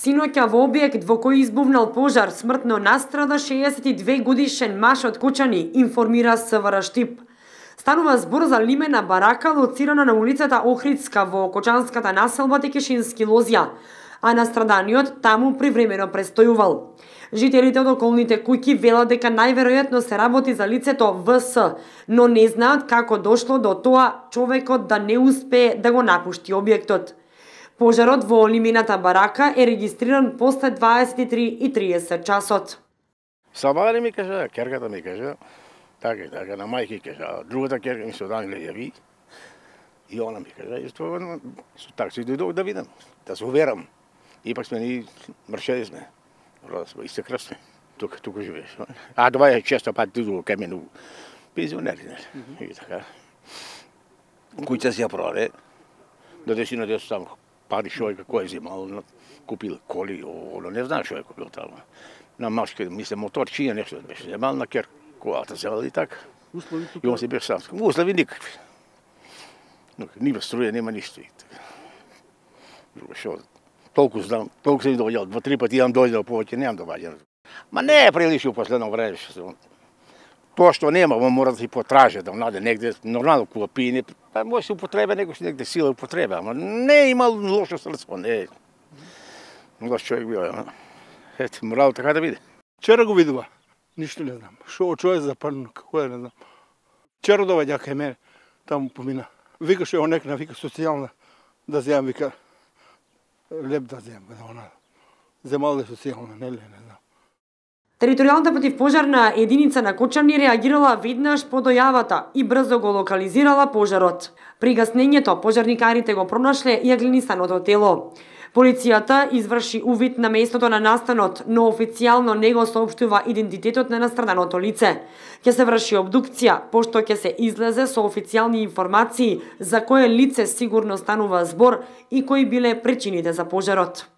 Синоќа во објект во кој избувнал пожар смртно настрада 62 годишен маж од Кочани, информира СВР Штип. Станува збор за лимена барака лоцирана на улицата Охридска во Кочанската населба Текешински Лозја, а настраданиот таму привремено престојувал. Жителите од околните куќи велат дека најверојатно се работи за лицето ВС, но не знаат како дошло до тоа човекот да не успее да го напушти објектот. Пожарот во лимената барака е регистриран после 23:30 часот. Сабари ми кажа, керката ми кажа, така, на мајки кажа, другата керка ми се од Англија јави, и она ми кажа, и тоа, така си дојдов да видам, да се уверам. Ипак сме ни мршеди сме, исти крв сме, тука живееш. А това е често пат дизу кај мене пензионери, и така. Куќа си ја продаде, до десина десо таму пари шојка кој е земал, купил коли, оно не знам шо е купил таму. На машки, мисле, моторчија нешто беше земал, на кер колата земал и така. И он се беше сам. Услови никакви. Нива струја, нема ништо. Друго шо, толку знам, толку се дојдел, 2-3 пати јам дојдел, повеќе немам доаѓање. Ма не е прилично у последно време. Тоа што нема, мора да си потража, да најде негде, нормално кога пине, па може се употреба, некој си негде сила употреба, ама не е имал лошо срдство, не е. Лош човек бил, ето, морало така да биде. Вчера го видува, ништо не знам. Шо човек западно, како е, не знам. Вчера доаѓа кај мене, таму помина. Викаше онекна, вика социјална, да земам, вика, леп да земам, она. Земал е социјална, не знам. Територијалната противпожарна единица на Кочани реагирала веднаш по дојавата и брзо го локализирала пожарот. При гаснењето пожарникарите го пронашле и агленисаното тело. Полицијата изврши увид на местото на настанот, но официјално не го соопштува идентитетот на настраданото лице. Ќе се врши обдукција, пошто ќе се излезе со официјални информации за кое лице сигурно станува збор и кои биле причините за пожарот.